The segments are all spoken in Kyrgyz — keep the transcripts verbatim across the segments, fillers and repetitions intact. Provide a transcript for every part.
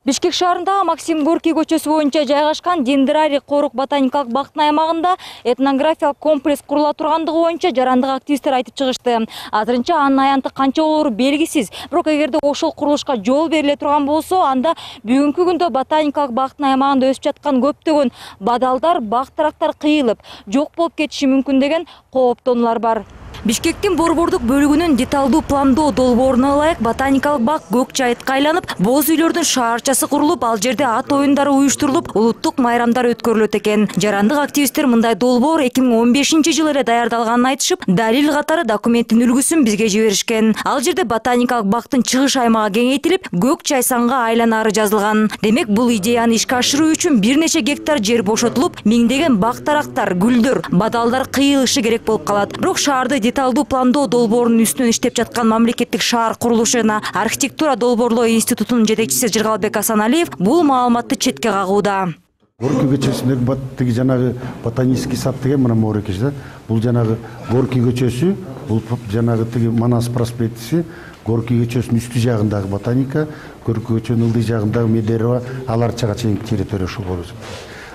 Бишкек шаарындагы Максим Горький көчөсү боюнча жайгашкан Дендрарий корук ботаникалык бактын аймагында этнографиялык комплекс курула тургандыгы боюнча жарандык активисттер айтып чыгышты. Азырынча анын аянты канча болору белгисиз. Бирок эгерде ошол курулушка жол бериле турган болсо, анда бүгүнкү күндө ботаникалык бактын аймагында өсүп жаткан көптөгөн бадалдар, бак тарактар кыйылып, жок болуп кетиши мүмкүн деген кооптонуулар бар. Бишкектин борбордук бөлүгүнүн деталдуу пландоо долбооруна ылайык ботаникалык бак көк жайытка айланып, боз үйлөрдүн шаарчасы курулуп, ал жерде ат оюндары уюштурулуп, улуттук майрамдар өткөрүлөт экен. Жарандык активисттер мындай долбоор эки миң он бешинчи жылы эле даярдалганын айтышып, далил катары документтин үлгүсүн бизге жиберишкен. Ал жерде ботаникалык бактын чыгыш аймагы кеңейтилип, көк чайсанга айланары жазылган. Демек, бул идеяны ишке ашыруу үчүн бир нече гектар жер бошотулуп, миңдеген бак тарактар, гүлдөр, бадалдар кыйылышы керек болуп калат. Бирок шаарды деталдуу пландоо долбоорунун үстүнөн иштеп жаткан мамлекеттик шаар курулуш жана архитектура долбоорлоо институтунун жетекчиси Жыргалбек Асаналиев бул маалыматты четке кагууда. Горький көчөсүндөгү тиги жанагы ботанический сад деген мына моорекеш да. Бул жанагы Горький көчөсү, бул жанагы тиги Манас проспектиси, Горький көчөсүнүн үстү жагындагы ботаника, Горький көчөнүн ылдый жагындагы Медерево, аларчага чейинки территория ушул болот.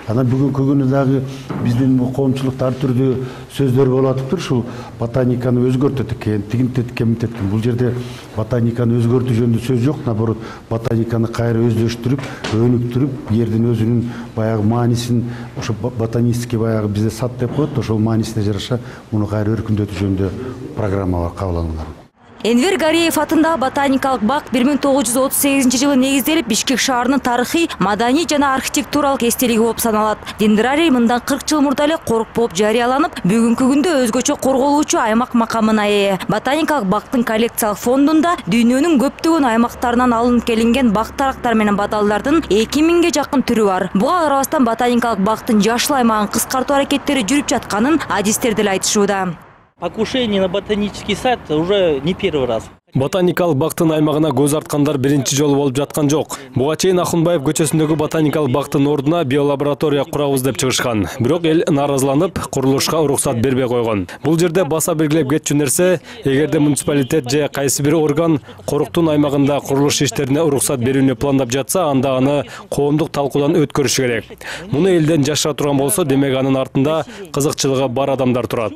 Анан бүгүнкү күнү дагы биздин коомчулукта ар түрдүү сөздөр болуп атыптыр. Ушул ботаниканы өзгөртөт экен, тигинтет экен. Бул жерде ботаниканы өзгөртүү жөнүндө сөз жок, наоборот, ботаниканы кайра өздөштүрүп, өнүктүрүп, жердин өзүнүн баягы маанисин, ошо ботанический баягы бизде сад деп коет, ошол маанисине жараша муну кайра өркүндөтүү жөнүндө программалар кабыл алынган. Энвер Гариев атындагы ботаникалык бак бир миң тогуз жүз отуз сегизинчи жылы негизделип, Бишкек шаарынын тарыхый, маданий жана архитектуралык эстелиги болуп саналат. Дендрарий мындан кырк жыл мурда эле корук болуп жарыяланып, бүгүнкү күндө өзгөчө корголуучу аймак макамына ээ. Ботаникалык бактын коллекциялык фондунда дүйнөнүн көптөгөн аймактарынан алынып келинген бак тарактар менен бадалдардын эки миңге жакын түрү бар. Буга карабастан ботаникалык бактын жашыл аймагын кыскартуу аракеттери жүрүп жатканын адистер деле айтышууда. Покушение на ботанический сад уже не первый раз. Ботаникалык бактын аймагына көз арткандар биринчи жолу болуп жаткан жок. Буга чейин Ахунбаев көчөсүндөгү ботаникалык бактын ордуна биолаборатория курабыз деп чыгышкан. Бирок эл нааразыланып, курулушка уруксат бербей койгон. Бул жерде баса белгилеп кетчү нерсе, эгерде муниципалитет же кайсы бир орган коруктун аймагында курулуш иштерине уруксат берүүнү пландап жатса, анда аны коомдук талкуудан өткөрүш керек. Муну элден жашыра турган болсо, демек анын артында кызыкчылыгы бар адамдар турат.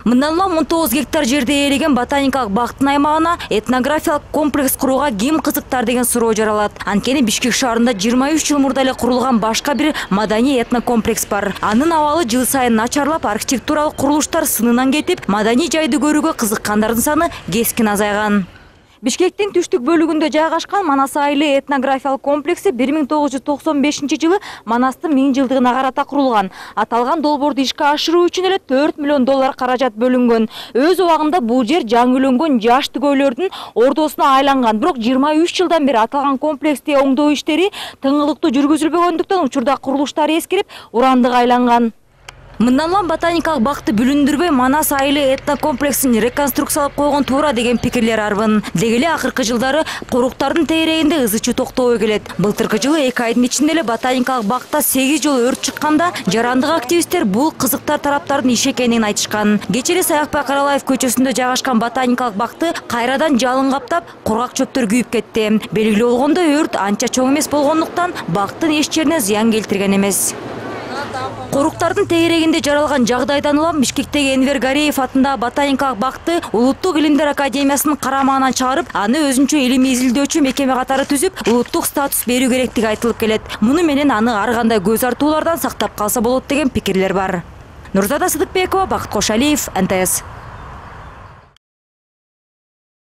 Мындан улам он тогуз гектар жерде ээлеген ботаникалык бактын аймагына этнографиялык комплекс курууга ким кызыктар деген суроо жаралат. Анткени Бишкек шаарында жыйырма үч жыл мурда эле курулган башка бир маданий этнокомплекс бар. Анын абалы жыл сайын начарлап, архитектуралык курулуштар сынынан кетип, маданий жайды көрүүгө кызыккандардын саны кескин азайган. Бишкектин түштүк бөлүгүндө жайгашкан Манас айылы этнографиялык комплекси бир миң тогуз жүз токсон бешинчи жылы Манастын миң жылдыгына карата курулган. Аталган долбоорду ишке ашыруу үчүн эле төрт миллион доллар каражат бөлүнгөн. Өз убагында бул жер жаңылөнгөн жаш түгөйлөрдүн ордосуна айланган. Бирок жыйырма үч жылдан бери аталган комплексти оңдоо иштери тыңылыктуу жүргүзүлбөгөндүктөн учурда курулуштар эскирип, урандык айланган. Мындан улам ботаникалык бакты бүлүндүрбөй Манас айылы этнокомплексин реконструкциялап койгон туура деген пикирлер арбын. Деги эле акыркы жылдары коруктардын тегерегинде ызы чуу токтобой келет. Былтыркы жылы эки айдын ичинде эле ботаникалык бакта сегиз жолу өрт чыкканда, жарандык активисттер бул кызыктар тараптардын иши экенин айтышкан. Кечээ эле Саякбай Каралаев көчөсүндө жайгашкан ботаникалык бакты кайрадан жалын каптап, кургак чөптөр күйүп кетти. Белгилүү болгондой, өрт анча чоң эмес болгондуктан бактын эч жерине зыян келтирген эмес. Коруктардын тегерегинде жаралган жагдайдан улам Бишкектеги Энвер Гариев атындагы ботаникалык бакты Улуттук илимдер академиясынын карамагынан чыгарып, аны өзүнчө илимий изилдөөчү мекеме катары түзүп, улуттук статус берүү керектиги айтылып келет. Муну менен аны ар кандай көз артуулардан сактап калса болот деген пикирлер бар. Нурзада Сыдыкбекова, Бакыт Кошалиев, эн тэ эс.